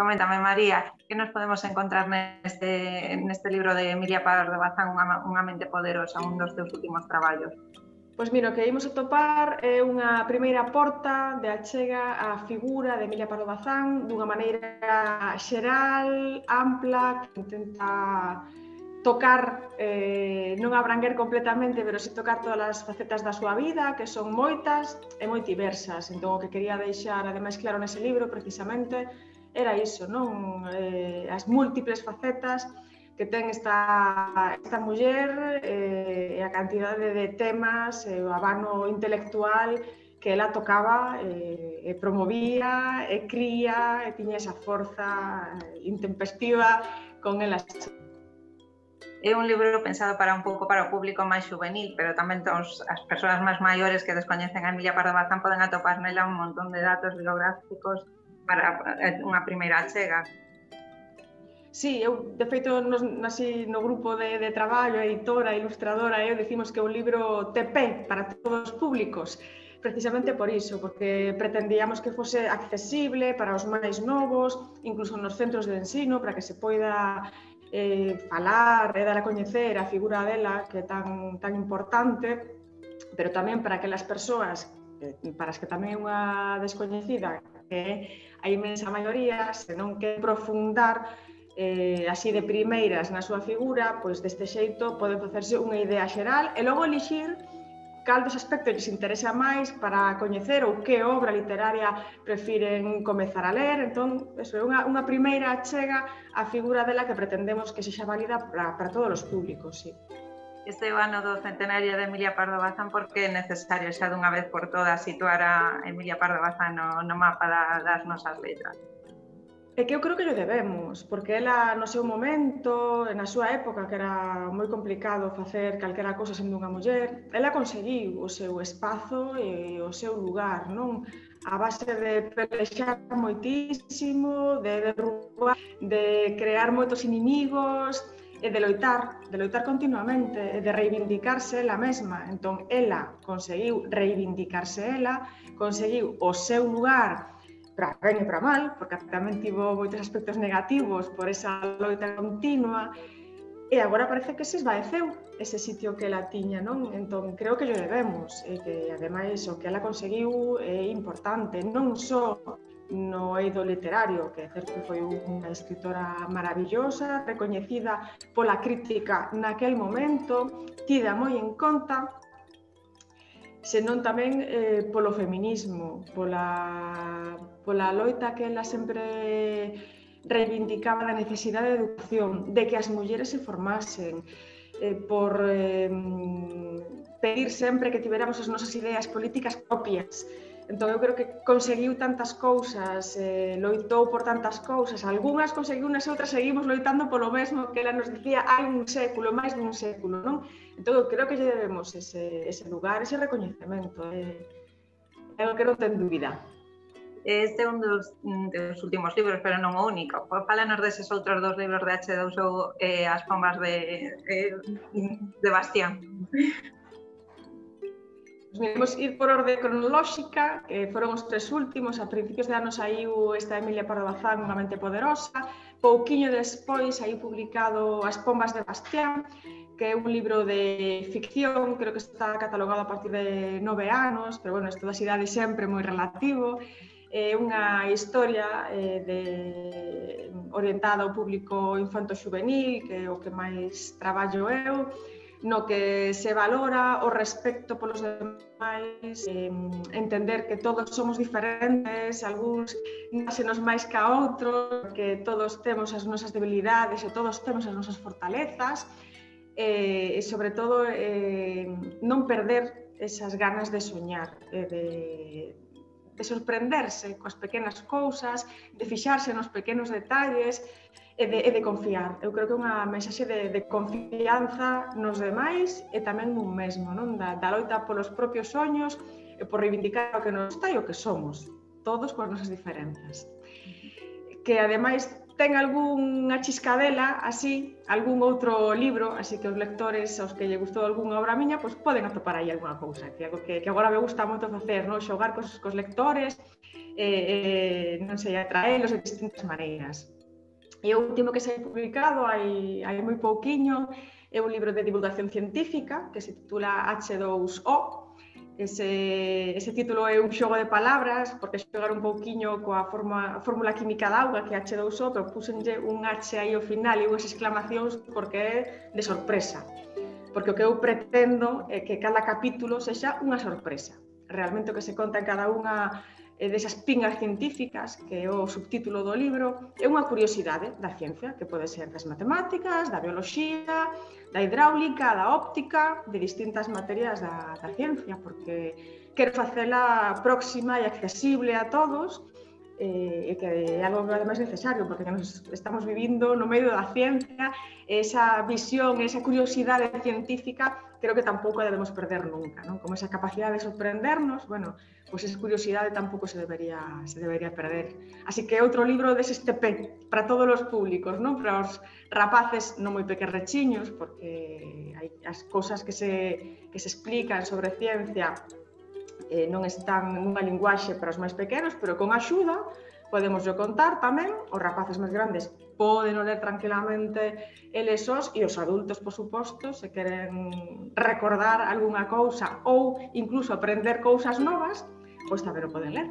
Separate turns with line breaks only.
Coméntame, María, que nos podemos encontrar neste libro de Emilia Pardo Bazán, Unha mente poderosa, un dos teus últimos traballos?
Pois mira, o que imos atopar é unha primeira porta de achega á figura de Emilia Pardo Bazán dunha maneira xeral, ampla, que intenta tocar, non abranguer completamente, pero si tocar todas as facetas da súa vida, que son moitas e moi diversas. Entón, o que quería deixar, ademais, claro nese libro, precisamente, era iso, non? As múltiples facetas que ten esta muller e a cantidade de temas e o abano intelectual que ela tocaba e promovía e cría e tiña esa forza intempestiva con elas.
É un libro pensado para un pouco para o público máis juvenil, pero tamén as persoas máis maiores que descoñecen a Emilia Pardo Bazán poden atopar nela un montón de datos biográficos para unha primeira achega.
Sí, eu, de feito, no grupo de traballo, a editora, a ilustradora, eu decimos que é un libro TP para todos os públicos, precisamente por iso, porque pretendíamos que fose accesible para os máis novos, incluso nos centros de ensino, para que se poida falar e dar a coñecer a figura dela, que é tan importante, pero tamén para aquelas persoas para as que tamén é unha descoñecida, que é a inmensa maioría, se non queren profundar así de primeiras na súa figura, pois deste xeito poden facerse unha idea xeral e logo elixir cal dos aspectos lles interesa máis para coñecer ou que obra literaria prefiren comezar a ler. Entón, eso é unha primeira achega á figura dela que pretendemos que sexa válida para todos os públicos, sí.
Este é o ano do centenario de Emilia Pardo Bazán porque é necesario xa dunha vez por todas situar a Emilia Pardo Bazán no mapa das nosas letras.
É que eu creo que lle debemos, porque ela no seu momento, na súa época, que era moi complicado facer calquera cousa sendo unha muller, ela conseguiu o seu espazo e o seu lugar, non? A base de pelexar moitísimo, de derrubar, de crear moitos inimigos e de loitar continuamente, e de reivindicarse ela mesma. Entón, ela conseguiu reivindicarse ela, conseguiu o seu lugar para ben e para mal, porque tamén tivo moitos aspectos negativos por esa loita continua, e agora parece que se esvaeceu ese sitio que ela tiña, non? Entón, creo que lle debemos, e que, ademais, o que ela conseguiu é importante, non só no eido literario, que é certo que foi unha escritora maravillosa, recoñecida pola crítica naquel momento, tida moi en conta, senón tamén polo feminismo, pola loita que ela sempre reivindicaba da necesidade de educación, de que as mulleres se formasen, por pedir sempre que tiveramos as nosas ideas políticas propias. Entón, eu creo que conseguiu tantas cousas, loitou por tantas cousas, algunhas conseguiu, nas outras seguimos loitando polo mesmo que ela nos dicía hai un século, máis dun século, non? Entón, eu creo que lle debemos ese lugar, ese recoñecemento, é o que non ten dúbida.
Este é un dos últimos libros, pero non o único. Fálanos deses outros dos libros de H2 ou As pombas de Bastián.
Vamos ir por orde cronolóxica, que foron os tres últimos. A principios de anos saiu esta Emilia Pardo Bazán, Unha mente poderosa. Pouquiño despois saiu publicado As pombas de Bastián, que é un libro de ficción, creo que está catalogado a partir de 9 anos, pero bueno, isto das idades sempre moi relativo. É unha historia orientada ao público infanto-xuvenil, que é o que máis traballo eu, no que se valora o respecto polos demais, entender que todos somos diferentes, algúns násenos máis que a outros, que todos temos as nosas debilidades e todos temos as nosas fortalezas, e sobre todo non perder esas ganas de soñar, de sorprenderse coas pequenas cousas, de fixarse nos pequenos detalles, e de confiar. Eu creo que é unha mensaxe de confianza nos demais e tamén nun mesmo, non? Da loita polos propios soños e por reivindicar o que nos gusta e o que somos, todos coas nosas diferenzas. Que ademais ten algunha chiscadela así, algún outro libro, así que os lectores aos que lle gustou algunha obra miña, pois poden atopar aí algunha cousa, que é algo que agora me gusta moito facer, non? Xogar cos lectores, non sei, atraelos de distintas maneiras. E o último que se hai publicado hai moi pouquiño é un libro de divulgación científica que se titula H2O. Ese título é un xogo de palabras, porque xogar un pouquiño coa fórmula química da auga, que é H2O, pero puxenlle un H aí ao final e unhas exclamacións porque é de sorpresa. Porque o que eu pretendo é que cada capítulo sexa unha sorpresa. Realmente o que se conta en cada unha desas pingas científicas, que é o subtítulo do libro, é unha curiosidade da ciencia, que pode ser das matemáticas, da bioloxía, da hidráulica, da óptica, de distintas materias da ciencia, porque quero facela próxima e accesible a todos, e que é algo que é máis necesario, porque nos estamos vivindo no medio da ciencia, esa visión, esa curiosidade científica, creo que tampouco a debemos perder nunca, non? Como esa capacidade de sorprendernos, bueno, pois esa curiosidade tampouco se debería perder. Así que outro libro dese TP para todos os públicos, non? Para os rapaces non moi pequerrechiños, porque hai as cousas que se explican sobre ciencia non están nunha linguaxe para os máis pequenos, pero con axuda podemos contar tamén, os rapaces máis grandes poden ler tranquilamente eles sós, e os adultos, por suposto, se queren recordar algunha cousa ou incluso aprender cousas novas, pois tamén o poden ler.